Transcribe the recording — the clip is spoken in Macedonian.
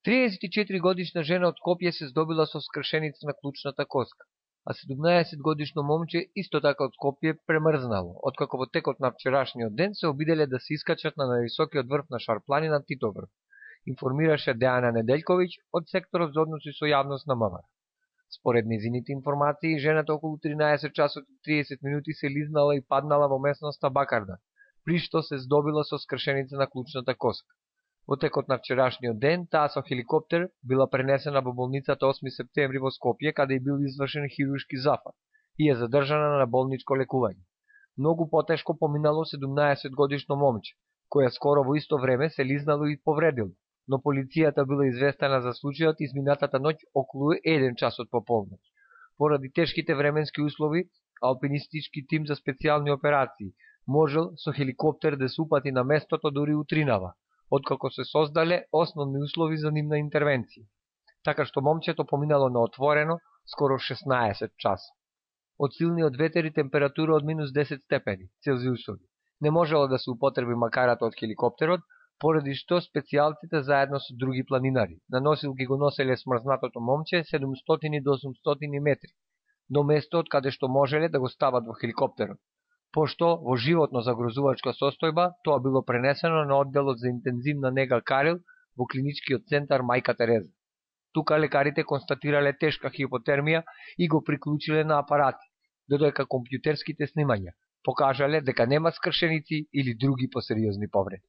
34-годишна жена од Скопје се здобила со скршеница на клучната коска, а 17-годишно момче исто така од Скопје премрзнало, откако во текот на вчерашниот ден се обиделе да се искачат на највисокиот врв на Шарпланина Титоврв, информираше Дејана Неделјковиќ од секторот за односи со јавност на МВР. Според незините информации, жената околу 13 часот и 30 минути се лизнала и паднала во местноста Бакарда, при што се здобила со скршеница на клучната коска. Во текот на вчерашниот ден, таа со хеликоптер била пренесена во болницата 8 септември во Скопје, каде и бил извршен хируршки зафат и е задржана на болничко лекување. Многу потешко поминало 17-годишно момче, која скоро во исто време се лизнало и повредило, но полицијата била известена за случајот изминатата ноќ околу 1 часот по полноќ. Поради тешките временски услови, алпинистички тим за специјални операции можел со хеликоптер да се упати на местото дури утринава, откако се создале основни услови за нивна интервенција. Така што момчето поминало на отворено скоро 16 часа. Од силниот ветер и температура од минус 10 степени Целзиусови не можело да се употреби макарата од хеликоптерот, поради што специјалците заедно со други планинари на носилки го носеле смрзнатото момче 700 до 800 метри до место од каде што можеле да го стават во хеликоптерот, пошто во животно загрозувачка состојба тоа било пренесено на одделот за интензивна нега Карел во клиничкиот центар Мајка Тереза. Тука лекарите констатирале тешка хипотермија и го приклучиле на апарати, додека компјутерските снимања покажале дека нема скршеници или други посериозни повреди.